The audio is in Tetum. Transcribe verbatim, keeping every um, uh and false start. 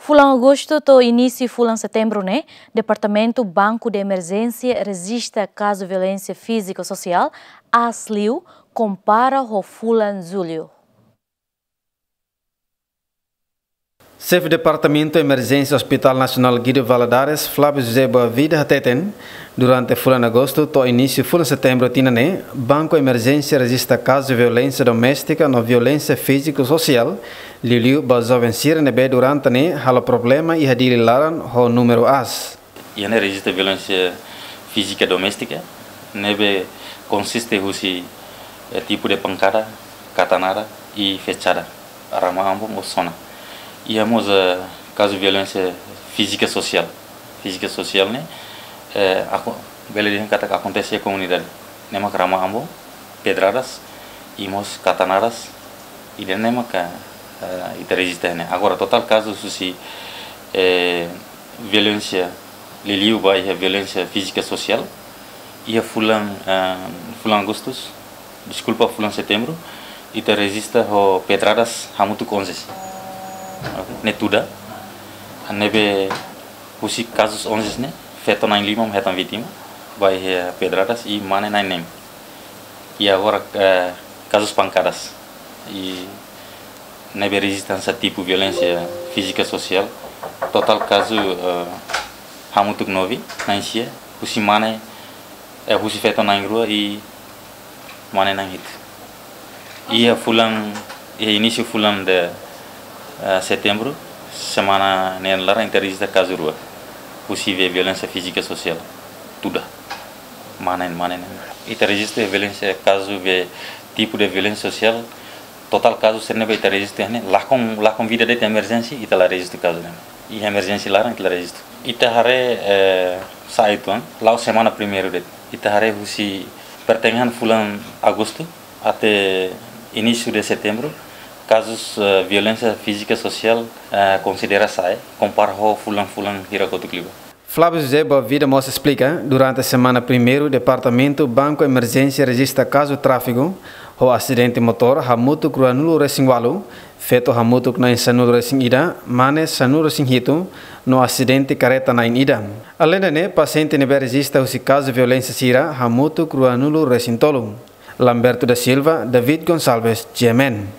Fulan Agostu to'o inísiu fulan Setembru ne'e, Departamentu Banku de Emerjénsia rejista kazu violénsia fízika sosiál aas liu, kompara ho fulan Jullu. Xefe Departamentu Emerjénsia Hospital Nasionál Guido Valadares, Flávio José Boavida hateten, durante fulan Agostu to'o inísiu fulan Setembru tinan ne'e, Banku Emerjénsia rejista kazu violénsia doméstika no violénsia fízika sosiál, liuliu ba joven sira ne'ebé durante ne'e halo problema iha Dili laran ho númeru aas. Iha ne'e rejista violénsia fízika doméstika, ne'ebé konsiste husi, eh, tipu de pankada, katanada i flexada, rama ambon ou sona. Iha mós, eh, kazu violénsia fízika sosiál. Fízika sosiál ne'e, eh, ako-, bele dehan katak akontese iha komunidade. Ne'e mak rama ambon, pedradas, i mós katanadas, ida-ne'e maka, eh, ita rejista ne'e. Agora, totál kazu husi, eh, violénsia, liuliu ba iha violénsia fízika sosiál, iha fulan, eh, fulan Agostu, deskulpa, fulan Setembru, ita rejista ho pedradas hamutuk onze. Ok, ne'e tuda. Ne'ebé husi kazus onze ne'e, feto na'in-lima mak hetan vítima, ba iha pedradas, i mane na'in-neen. I agora, eh, kazus pankadas. I ne'ebé rejista hanesan tipu violénsia fízika sosiál. Totál kazu, eh, hamutuk nove, na'in-sia, husi mane, eh, husi feto na'in-rua i mane na'in-hitu. Iha fulan, iha inísiu fulan de, eh, Setembru, semana neen laran ita rejista kazu rua. Husi violénsia fízika sosiál. Tuda. Mane, mane na'in. Ita rejista violénsia kazu be tipu de violénsia sosiál. Totál kazu sira ne'ebé ita rejista ne'e, lakon, lakon vida de'it emerjénsia, ita la rejista kazu ne'e. Iha emerjénsia laran ita la rejista. Ita haree, eh, sa'e uitoan, la'o semana primeiru de'it. Ita haree husi pertengahan fulan Agostu até inísiu de Setembru, kazus, eh, violénsia fízika sosiál, eh, konsidera sa'e, kompara ho fulan-fulan hira kotuk liubá. Flávio José Boavida mós esplika, durante semana primeiru, Departamentu Banku Emerjénsia rejista kazu tráfiku, ho asidente motór hamutuk ruanulu-resin-ualu, feto hamutuk na'in-sanulu-resin-ida, mane sanulu-resin-hitu, no asidente karreta na'in-ida. Aleinde ne'e, pasiente ne'ebé rejista husi kazu violénsia sira hamutuk ruanulu-resin-tolu. Lamberto da Silva, David Gonçalves, G M N.